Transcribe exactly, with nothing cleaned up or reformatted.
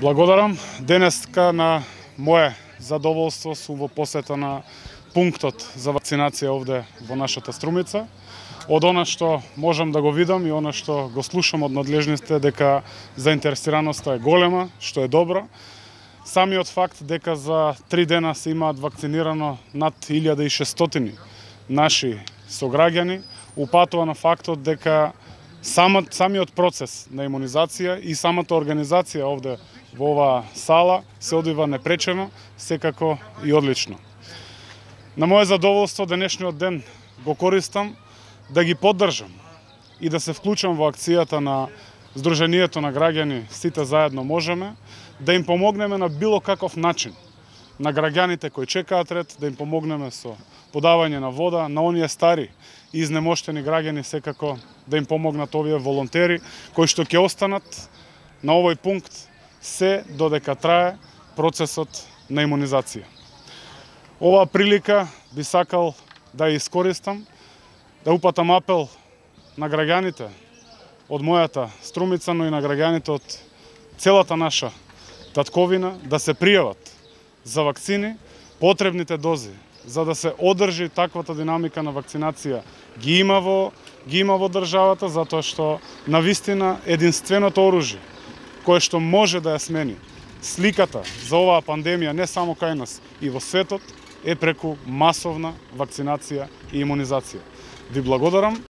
Благодарам. Денеска на мое задоволство сум во посета на пунктот за вакцинација овде во нашата Струмица. Од она што можам да го видам и она што го слушам од надлежните дека заинтересираноста е голема, што е добро. Самиот факт дека за три дена се имаат вакцинирано над илјада и шестстотини наши сограѓани упатува на фактот дека самиот, самиот процес на имунизација и самата организација овде во оваа сала се одвива непречено, секако и одлично. На моje задоволство денешниот ден го користам да ги поддржам и да се вклучам во акцијата на Сдруженијето на граѓани Сите заедно можеме, да им помогнеме на било каков начин на граѓаните кои чекаат ред, да им помогнеме со подавање на вода, на оние стари и изнемоштени граѓани секако да им помогнат овие волонтери кои што ќе останат на овој пункт се додека трае процесот на имунизација. Оваа прилика би сакал да ја искористам, да упатам апел на граѓаните од мојата Струмица, но и на граѓаните од целата наша татковина да се пријават за вакцини, потребните дози, за да се одржи таквата динамика на вакцинација ги има во, ги има во државата, затоа што навистина единственото оружје кое што може да ја смени сликата за оваа пандемија не само кај нас и во светот е преку масовна вакцинација и имунизација. Ви благодарам.